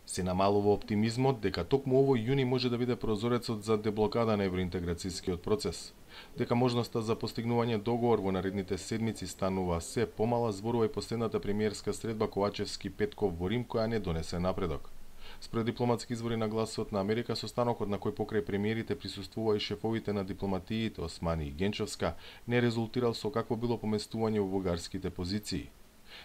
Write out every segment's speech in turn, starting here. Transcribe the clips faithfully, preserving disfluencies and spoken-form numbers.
Се намалува оптимизмот дека токму овој јуни може да биде прозорецот за деблокада на евроинтеграцијскиот процес. Дека можноста за постигнување договор во наредните седмици станува се помала, зборува и последната премиерска средба Ковачевски-Петков во Рим, која не донесе напредок. Според дипломатски извори на Гласот на Америка, состанокот на кој покрај премиерите присуствува и шефовите на дипломатиите Османи и Генчовска, не резултирал со какво било поместување во бугарските позиции.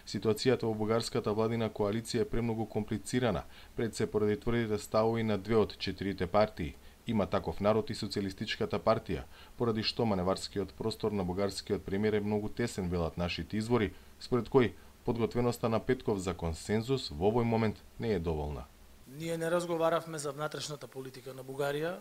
Ситуацијата во бугарската владина коалиција е премногу комплицирана, пред се поради тврдите ставови на две од четирите партии. Има таков народ и Социјалистичката партија, поради што маневарскиот простор на бугарскиот премиер е многу тесен, велат нашите извори, според кој подготвеноста на Петков за консензус во овој момент не е доволна. Ние не разговаравме за внатрешната политика на Бугарија.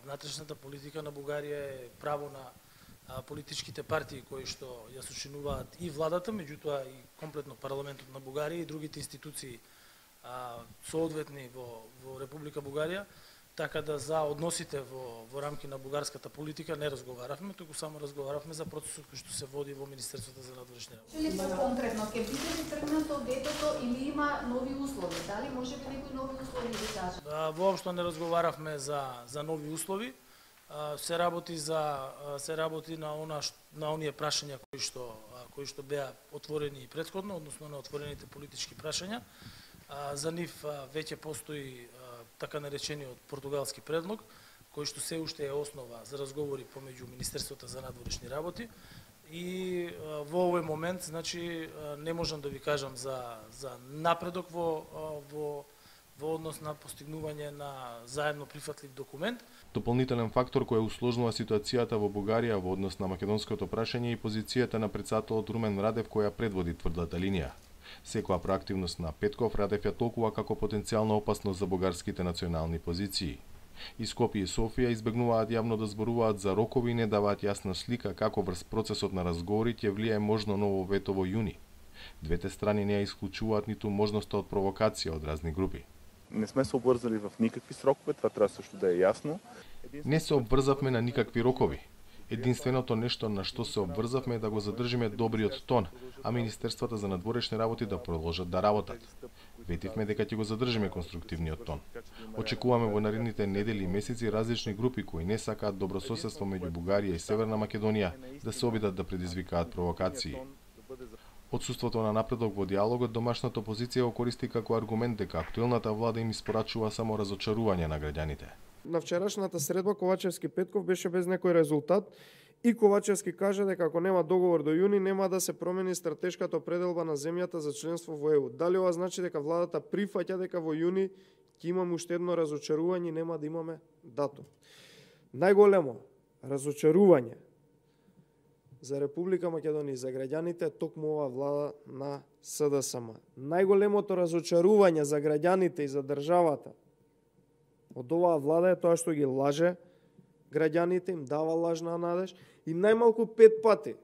Внатрешната политика на Бугарија е право на политичките партии кои што ја сочинуваат и владата, меѓутоа и комплетно парламентот на Бугарија и другите институции соодветни во, во Република Бугарија. Така да за односите во, во рамки на бугарската политика не разговаравме, туку само разговаравме за процесот кој што се води во Министерството за надворешни работи. Или конкретно, ќе биде ли тргнато детето или има нови услови? Дали може би некои нови услови да кажат? Воопшто не разговаравме за за нови услови. Се работи за се работи на она на оние прашања кои што кои што беа отворени и претходно, односно на отворените политички прашања. За нив веќе постои така наречениот португалски предлог, кој што се уште е основа за разговори помеѓу Министерството за надворешни работи. И во овој момент, значи, не можам да ви кажам за за напредок во во во однос на постигнување на заедно прифатлив документ. Дополнителен фактор кој усложнува ситуацијата во Бугарија во однос на македонското прашање и позицијата на претседателот Румен Радев, која предводи тврдата линија. Секоја проактивност на Петков Радев ја толкува како потенцијална опасност за бугарските национални позиции. И Скопје и Софија избегнуваат јавно да зборуваат за рокови и не даваат јасна слика како врз процесот на разговори ќе влијае можно ново вето во јуни. Двете страни не ја исклучуваат ниту можноста од провокација од разни групи. Не сме се обврзали в никакви срокове, това треба също да е ясно. Не се обврзавме на никакви рокови. Единственото нешто на што се обврзавме е да го задржиме добриот тон, а Министерствата за надворешни работи да продолжат да работат. Ветивме дека ќе го задржиме конструктивниот тон. Очекуваме во наредните недели и месеци различни групи кои не сакаат добрососедство меѓу Бугарија и Северна Македонија да се обидат да предизвикаат провокации. Отсуството на напредок во диалогот домашната опозиција го користи како аргумент дека актуелната влада им испорачува само разочарување на граѓаните. На вчерашната средба Ковачевски-Петков беше без некој резултат и Ковачевски кажа дека ако нема договор до јуни нема да се промени стратешката определба на земјата за членство во Е У. Дали ова значи дека владата прифаќа дека во јуни ќе имаме уште едно разочарување и нема да имаме датум? Најголемо разочарување за Република Македонија и за граѓаните е токму ова влада на С Д С М. Најголемото разочарување за граѓаните и за државата од оваа влада е тоа што ги лаже граѓаните, им дава лажна надеж и најмалку пет пати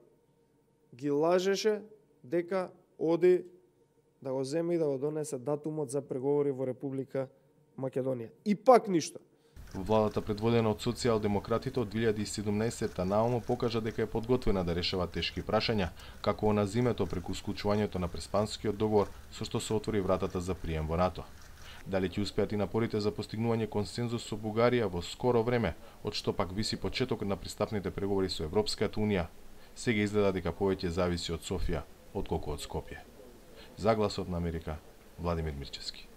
ги лажеше дека оди да го земе и да го донесе датумот за преговори во Република Македонија. И пак ништо. Владата предводена од социјалдемократите од две илјади и седумнаесетта наомо покажа дека е подготвена да решава тешки прашања, како на зимето преку склучувањето на Преспанскиот договор со што се отвори вратата за прием во НАТО. Дали ќе успеат и напорите за постигнување консензус со Бугарија во скоро време, од што пак виси почеток на пристапните преговори со Европската Унија, сега изгледа дека повеќе зависи од Софија отколку од Скопје. За Гласот на Америка, Владимир Мирчевски.